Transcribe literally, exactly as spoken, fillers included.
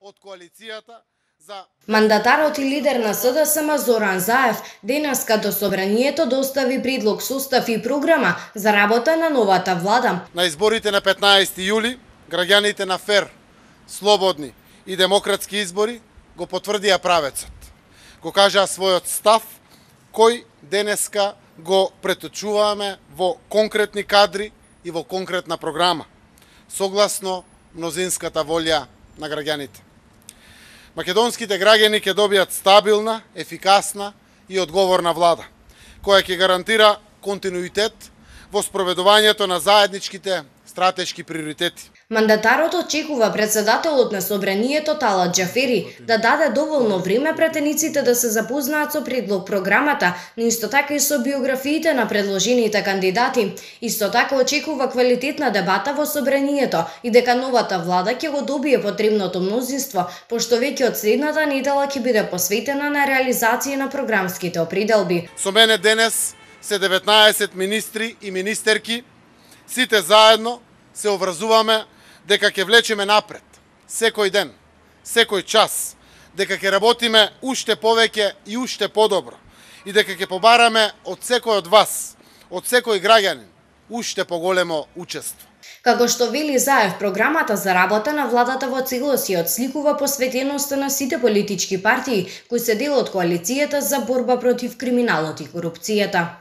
од коалицијата за Мандатарот и лидер на С Д С М Зоран Заев денеска до Собранието достави предлог состав и програма за работа на новата влада. На изборите на петнаесети јули граѓаните на фер, слободни и демократски избори го потврдија правецот. Го кажаа својот став кој денеска го преточуваме во конкретни кадри и во конкретна програма, согласно мнозинската волја на граѓаните. Македонските граѓани ќе добијат стабилна, ефикасна и одговорна влада, која ќе гарантира континуитет во спроведувањето на заедничките стратешки приоритети. Мандатарот очекува председателот на Собранието Талат Џафери да даде доволно време претениците да се запознаат со предлог програмата, но исто така и со биографиите на предложените кандидати. Исто така очекува квалитетна дебата во Собранието и дека новата влада ќе го добие потребното мнозинство, пошто веќе од следната недела ќе биде посветена на реализација на програмските определби. Со мене денес се деветнаесет министри и министерки, сите заедно се обврзуваме дека ќе влечеме напред секој ден, секој час, дека ќе работиме уште повеќе и уште подобро и дека ќе побараме од секој од вас, од секој граѓанин, уште поголемо учество. Како што вели Заев, програмата за работа на владата во целост ја отсликува посветеноста на сите политички партии кои се дел од коалицијата за борба против криминалот и корупцијата.